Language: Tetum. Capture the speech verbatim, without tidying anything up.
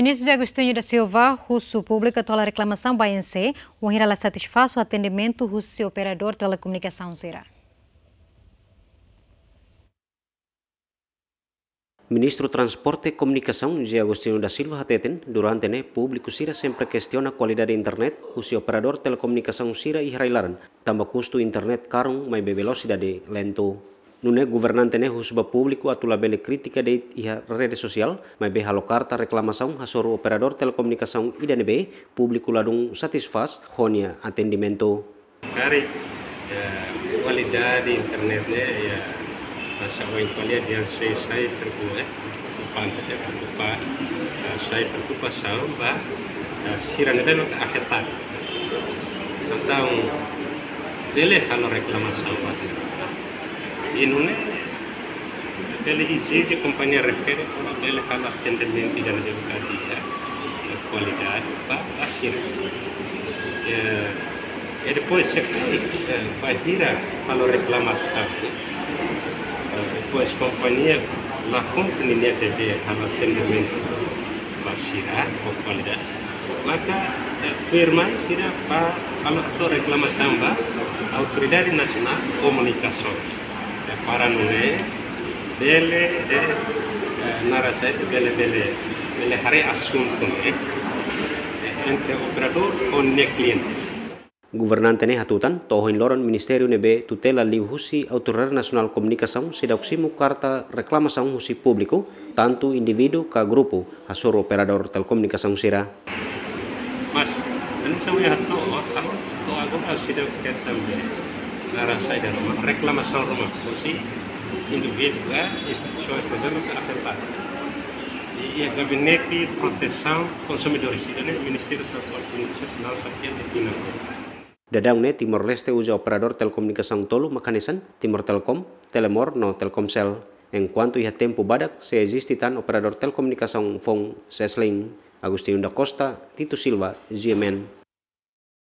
Ministru José Agostinho da Silva husu públiku atu halo reklamasaun ba A N C, wainhira la satisfás ho atendimentu husi operadór telekomunikasaun sira. Ministru Transporte Komunikasaun José Agostinho da Silva hateten, durante ne'e públiku sira sempre kestiona kualidade internet husi operadór telekomunikasaun sira iha rai-laran, tanba kustu internet karun maibé velosidade lentu. Nune'e governante ne'e husu ba públiku atu labele kritika de'it iha rede sosiál, maibé halo karta reklamasaun hasoru operadór telekomunikasaun ida ne'ebé públiku ladún satisfás ho nia atendimentu. Karik, eh, kualidade internet ne'e, ya, masa oin kualidade yang sei sai preokupa, eh, preokupante, sei preokupa, eh, sai preokupasaun ba, eh, sira ne'ebé maka afetadu. Entaun, bele halo reklamasaun ba. I nune'e, bele ezije kompañia refere para bele halo atendimentu ida ne'ebé maka di'ak, eh, kualidade ba, ba sira. Eh, i depois se, eh, bainhira halo reklamasaun, eh, depois kompañia la kumpre ninia devér halo atendimentu ba sira ho kualidade. Maka, eh, tuirmai sira bá halo atu reklamasaun ba Autoridade Nasionál Komunikasoens. Eh, para nune'e bele, eh, eh, naran sá ida, bele, bele, bele haree asuntu ne'e, eh, entre operadór ho nia klientes. Governante ne'e hatutan, to'o ohin loron ministériu ne'ebé tutela liuhusi Autoridade Nasionál Komunikasaun seidauk simu karta reklamasaun husi públiku, tantu indivíduu ka grupu, hasoru operadór telekomunikasaun sira. Mas, hanesan ohin hato'o, ha'u to'o agora seidauk hetan be, naran sá ida ruma, reklamasaun ruma, husi indivíduu ka instituisaun ne'ebé maka afetadu. I, i Gabinete Protesaun Konsumidores, ida-ne'e Ministériu Transporte Komunikasaun, naran sá ida, ida-ne'e. Daudaun ne'e Timor-Leste uza operadór telekomunikasaun tolu mak hanesan, Timor Telecom, Telemor no Telkomcel. Enkuantu iha tempu badak sei eziste tan operadór telekomunikasaun foun Cellnex. Agostinho da Costa, Tito Silva, G M N.